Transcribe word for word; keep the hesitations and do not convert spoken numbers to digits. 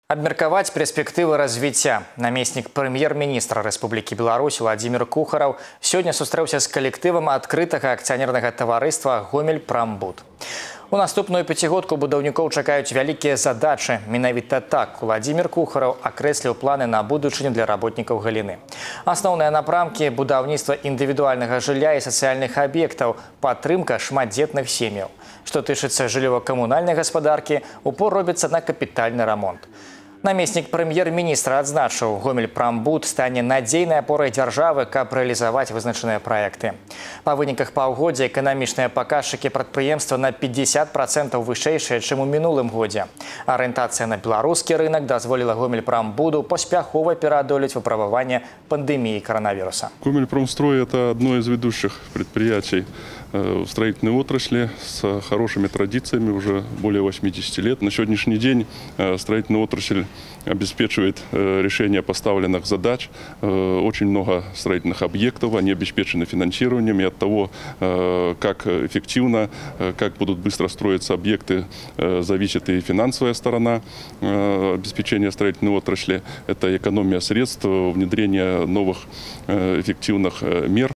Абмеркаваць перспектывы развіцця. Намеснік прэм'ер-міністра Рэспублікі Беларусь Владзімір Кухараў сёння сустрэўся з калектывам адкрытага акцыянернага таварыства «Гомель-Прамбуд». У наступную пяцігодку будаўнікоў чакаюць вялікія задачы. Менавіта так Владзімір Кухараў акрэсліў планы на будучыню для работнікаў галіны. Асноўныя напрамкі – будаўніцтва індывідуальнага жылля і сацыяльных аб'ектаў, падтрымка шматдзетных сем'яў. Што тычыцца жыллёва-камунальнай гаспадаркі, упор робіцца на капітальны рамонт. Намеснік прэм'ер-міністра адзначыў, Гомель-Прамбуд стане надзейнай апорай дзяржавы, каб рэалізаваць вызначаныя праекты. Па выніках паўгоддзя эканамічныя паказчыкі прадпрыемства на пятьдесят процентов вышэйшыя, чым у мінулым годзе. Арыентацыя на беларускі рынок дазволіла Гомель-Прамбуду паспяхова пераадолець выпрабаванне пандеміі коронавируса. Гомель-Промстрой – это одно из ведущих предприятий в строительной отрасли с хорошими традициями уже более восьмидесяти лет. На сегодняшний день строительная отрасль обеспечивает решение поставленных задач. Очень много строительных объектов, они обеспечены финансированием. И от того, как эффективно, как будут быстро строиться объекты, зависит и финансовая сторона обеспечения строительной отрасли. Это экономия средств, внедрение новых эффективных мер.